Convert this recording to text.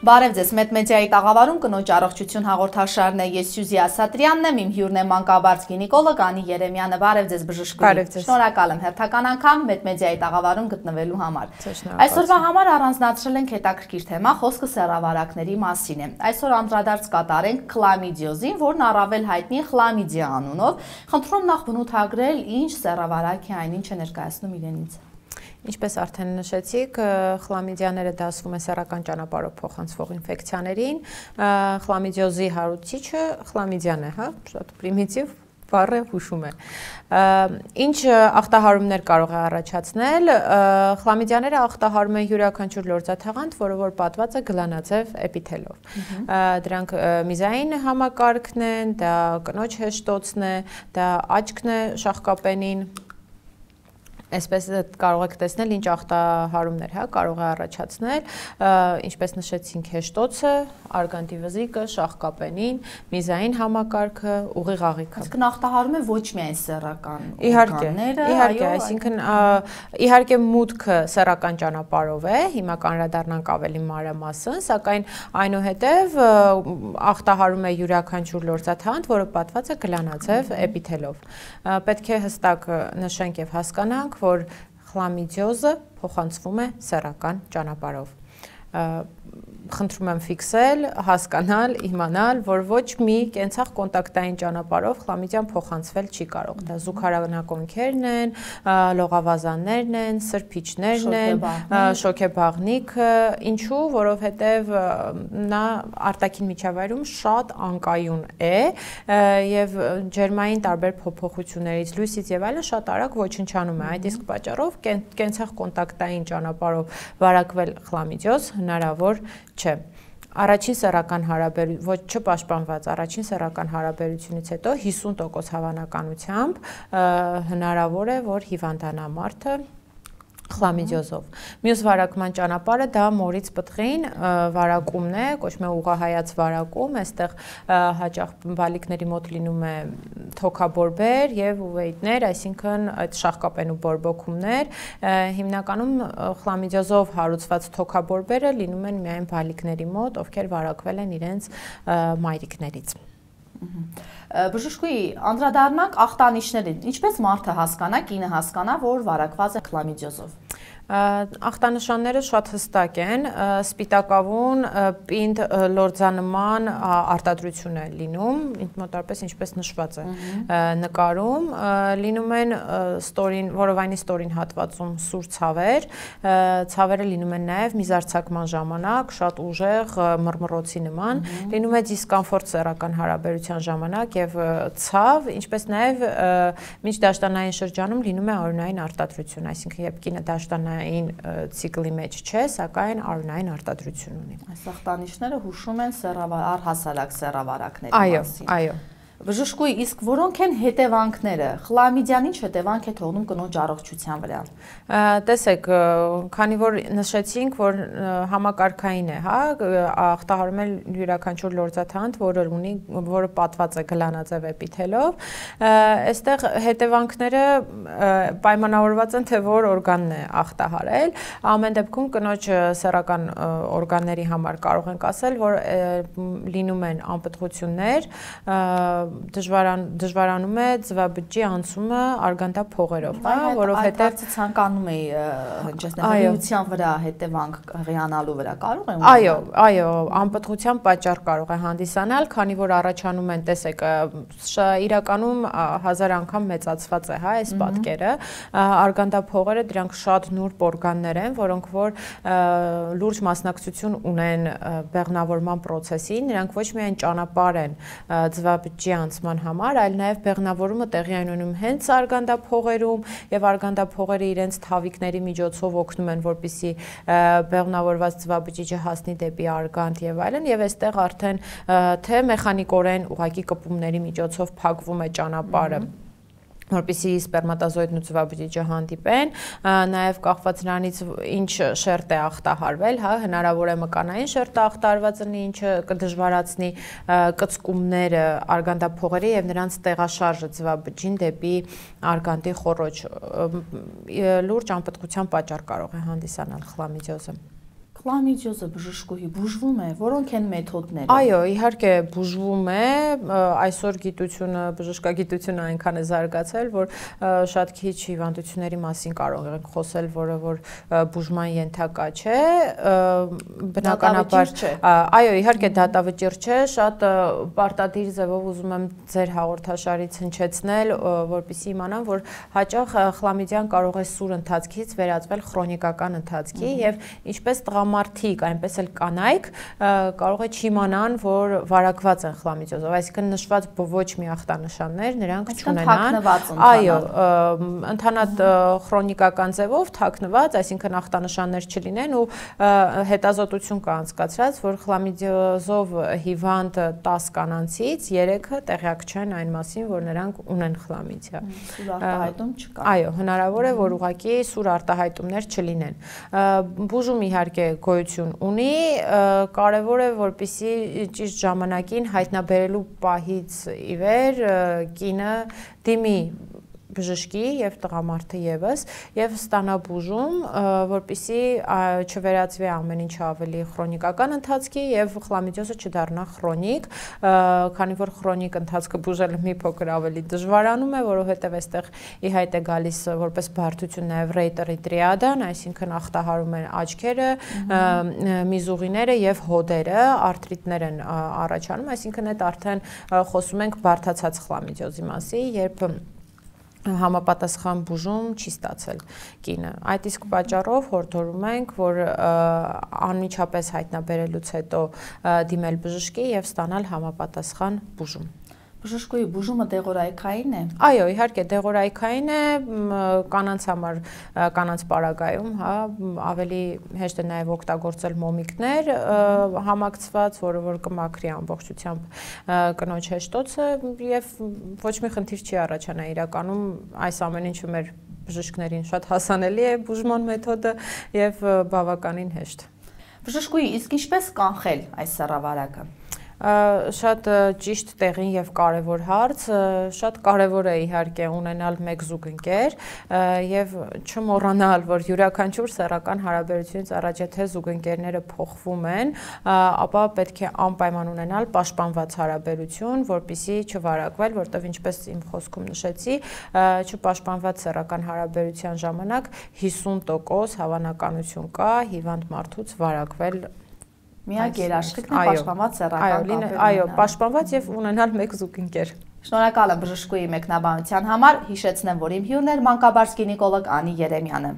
Բարև ձեզ, Մեդմեդիայի տաղավարում կնոջ առողջություն հաղորդաշարն է, ես Սյուզի Ասատրյանն եմ, իմ հյուրն է մանկաբարձ գինեկոլոգ Անի Երեմյանը, բարև ձեզ բժշկուհի, շնորհակալ եմ հերթական անգամ Մեդմեդիայի տաղավարում գտնվելու համար։ Այսօրվա համար առանձնացրել ենք հետաքրքիր թեմա, խոսքը սեռավարակների մասին է։ Այսօր անդրադարձ կատարենք քլամիդիոզին, որն առավել հայտնի է խլամիդիա անունով։ Խնդրում նախ բնութագրել, ինչ սեռավարակ է, այն ինչ է ներկայացնում իրենից։ Ինչպես արդեն նշեցիք, խլամիդիաները դասվում է սեռական ճանապարհով փոխանցվող ինֆեկցիաներին, խլամիդիոզի հարուցիչը խլամիդիան է, հա, շատ պրիմիտիվ բառը հուշում է։ Ինչ ախտահարումներ կարող է առաջացնել, խլամիդիաները ախտահարում են յուրաքանչյուր լորձաթաղանթ, որը որ պատված է գլանաձև էպիթելով։ Դրանք միզային համակարգն են, դա կնոջ հեշտոցն է, դա աչքն է շաղկապենին։ Այսպես կարող եք տեսնել ինչ ախտահարումներ կարող է առաջացնել, ինչպես նշեցինք հեշտոցը, արգանդի վզիկը, շաղկապենին, միզային համակարգը, ուղիղ աղիքը։ Այսինքն ախտահարում է ոչ միայն սեռական օրգանները, իհարկե, այսինքն իհարկե մուտքը սեռական ճանապարհով է, հիմա կանդրադառնանք ավելի մանրամասն, սակայն այնուհետև ախտահարում է յուրաքանչյուր լորձաթաղանթ, որը պատված է գլանաձև էպիթելով։ Պետք է հստակ նշենք եւ հասկանանք, որ խլամիդիոզը փոխանցվում է սեռական ճանապարհով։ Խնդրում եմ ֆիքսել, հասկանալ, իմանալ, որ ոչ մի կենցաղ կոնտակտային ճանապարհով խլամիդիան փոխանցվել չի կարող։ Դա զուգարանակոնքերն են, լողավազաններն են, սրբիչներն են, շոքեբաղնիքը, ինչու, որովհետև նա արտաքին միջավայրում շատ անկայուն է եւ ջերմային տարբեր փոփոխություններից, լույսից եւ այլն շատ արագ ոչնչանում է։ Այդ իսկ պատճառով կենցաղ կոնտակտային ճանապարհով վարակվել խլամիդիոզ հնարավոր չէ։ Առաջին սեռական հարաբերություն, ոչ չպաշտպանված առաջին սեռական հարաբերությունից հետո 50% հավանականությամբ հնարավոր է, որ հիվանդանա մարդը խլամիդիոզով։ Մյուս վարակման ճանապարհը դա մորից պտղին վարակումն է, կոչվում է ուղղահայաց վարակում, այստեղ հաճախ բալիկների մոտ լինում է թոքաբորբեր եւ ուվեյտներ, այսինքն այդ շաղկապենու բորբոքումներ, հիմնականում խլամիդիոզով հարուցված թոքաբորբերը լինում են միայն բալիկների մոտ, ովքեր վարակվել են իրենց մայրիկներից։ Բժշկուհի, անդրադառնանք ախտանիշներին, ինչպես մարդը հասկանա, կինը հասկանա, որ վարակված է խլամիդիոզով։ Ախտանշանները շատ հստակ են, սպիտակավուն, պինդ լորձանման արտադրություն է լինում, մոտավորապես ինչպես նշված է նկարում, լինում են որովայնի ստորին հատվածում սուր ցավեր, ցավերը լինում են նաև միզարձակման ժամանակ, շատ ուժեղ մռմռոցի նման, լինում է դիսկոմֆորտ սեռական հարաբերության ժամանակ եւ ցավ, ինչպես նաև միջդաշտանային շրջանում լինում է արյունային արտադրություն, այսինքն երբ կինը դաշտանային ցիկլի մեջ չէ, սակայն արյունային արտադրություն ունի։ Այս ախտանիշները հուշում են առհասարակ սեռավարակների մասին։ Այո։ Բժշկուհի, իսկ որոնք են հետևանքները, խլամիդիան ինչ հետևանք է թողնում կնոջ առողջության վրա։ Տեսեք, քանի որ նշեցինք, որ համակարգային է, հա, ախտահարում է յուրաքանչյուր լորձաթաղանթ, որը պատված է գլանաձև էպիթելով, այստեղ հետևանքները պայմանավորված են, թե որ օրգանն է ախտահարել, ամեն դեպքում կնոջ սեռական օրգանների համար կարող ենք ասել, որ լինում են անպտղություններ, դժվարանում է ձվաբջջի անցումը արգանդափողերով, որովհետև ցանկանում էի հնչեցնել հղիության վրա հետևանք հղիանալու վրա կարող է։ Այո, անպտղության պատճառ կարող է հանդիսանալ, քանի որ առաջանում են, տեսեք, իրականում 1000 անգամ մեծացված է, հա, այս պատկերը, արգանդափողերը դրանք շատ նուրբ օրգաններ են, որոնք որ լուրջ մասնակցություն ունեն բեղմնավորման process-ին, նրանք ոչ միայն ճանապարհ են ձվաբջջի անցման համար, այլ նաև բեղմնավորումը տեղի է ունենում հենց արգանդափողերում եւ արգանդափողերը իրենց թավիկների միջոցով օգնում են, որպեսզի բեղմնավորված ձվաբջիջը հասնի դեպի արգանդ եւ այլն, եւ այստեղ արդեն թե մեխանիկորեն ուղղակի կպումների միջոցով փակվում է ճանապարհը, որպեսզի սպերմատոզոիդն ու ձվաբջիջը հանդիպեն, նաև կախված նրանից ինչ շերտ է ախտահարվել, հա, հնարավոր է մկանային շերտը ախտահարված լինի, ինչը կդժվարացնի կծկումները արգանդափողերի եւ նրանց տեղաշարժը ձվաբջջին դեպի արգանդի խոռոչ, լուրջ անպտղության պատճառ կարող է հանդիսանալ խլամիդիոզը։ Խլամիդիոզը բժշկուհի բուժվում է, որոնք են մեթոդները։ Այո, իհարկե բուժվում է, այսօր գիտությունը, բժշկագիտությունը այնքան է զարգացել, որ շատ քիչ հիվանդությունների մասին կարող ենք խոսել, որը որ բուժման ենթակա չէ, բնականաբար, այո, իհարկե դատավճիռ չէ, շատ պարտադիր ձևով ուզում եմ ձեր հաղորդաշարից հնչեցնել, որպեսզի իմանամ, որ հաճախ խլամիդիան կարող է սուր ընթացքից վերածվել քրոնիկական ընթացքի եւ ինչպես տղամարդիկ, այնպես էլ կանայք կարող է չիմանան, որ վարակված են խլամիդիոզով, այսինքն նշված ոչ մի ախտանշաններ նրանք չունենան։ Այո, ընդհանրად քրոնիկական ձևով թաքնված, այսինքն ախտանշաններ չլինեն ու հետազոտություն կա անցկացրած, որ խլամիդիոզով հիվանդ 10 կանանցից 3-ը տեղյակ չեն այն մասին, որ նրանք ունեն խլամիդիա։ Սուր արտահայտում չկա։ Այո, հնարավոր է, որ ուղղակի սուր արտահայտումներ չլինեն։ Բուժում իհարկե գոյություն ունի, կարևոր է, որպեսզի ճիշտ ժամանակին հայտնաբերելու պահից ի վեր կինը դիմի բժշկի եւ տղամարդը եւս եւ ստանա բուժում, որպեսզի չվերածվի ամեն ինչ ավելի քրոնիկական ընթացքի եւ խլամիդիոզը չդառնա քրոնիկ, քանի որ քրոնիկ ընթացքը բուժելը մի փոքր ավելի դժվարանում է, որովհետեւ այստեղ ի հայտ է գալիս որպես բարդություն նաեւ ռեյտերի տրիադան, այսինքն ախտահարում են աչքերը, միզուղիները եւ հոդերը, արթրիտներ են առաջանում, այսինքն այդ արդեն խոսում ենք բարդացած խլամիդիոզի մասին, երբ համապատասխան բուժում չի ստացել կինը։ Այդ իսկ պատճառով հորդորում ենք, որ անմիջապես հայտնաբերելուց հետո դիմել բժշկի եւ ստանալ համապատասխան բուժում։ Բժշկուհի բուժումը դեղորայքային է։ Այո, իհարկե դեղորայքային է, կանանց համար, կանանց պարագայում, հա, ավելի հեշտ է նաև օգտագործել մոմիկներ համակցված, որը որ կմաքրի ամբողջությամբ կնոջ հեշտոցը եւ ոչ մի խնդիր չի առաջանա իրականում այս ամեն ինչը մեր բժիշկներին շատ հասանելի է բուժման մեթոդը եւ բավականին հեշտ։ Բժշկուհի, իսկ ինչպես կանխել այս սեռավարակը։ Շատ ճիշտ տեղին եւ կարեւոր հարց, շատ կարեւոր է իհարկե ունենալ մեկ զուգընկեր եւ չմոռանալ, որ յուրաքանչյուր սեռական հարաբերությունից առաջ եթե զուգընկերները փոխվում են, ապա պետք է անպայման ունենալ պաշտպանված հարաբերություն, որպեսզի չվարակվել, որտեղ ինչպես իմ խոսքում նշեցի, չպաշտպանված սեռական հարաբերության ժամանակ 50% հավանականություն կա հիվանդ մարդուց վարակվել Միակ երաշխիքն է պաշտպանված սեռական կապեր։ Այո, պաշտպանված եւ ունենալ մեկ զուգընկեր։ Շնորհակալ եմ բժշկուհի մեկնաբանության համար, հիշեցնեմ, որ իմ հյուրն էր մանկաբարձ գինեկոլոգ Անի Երեմյանը։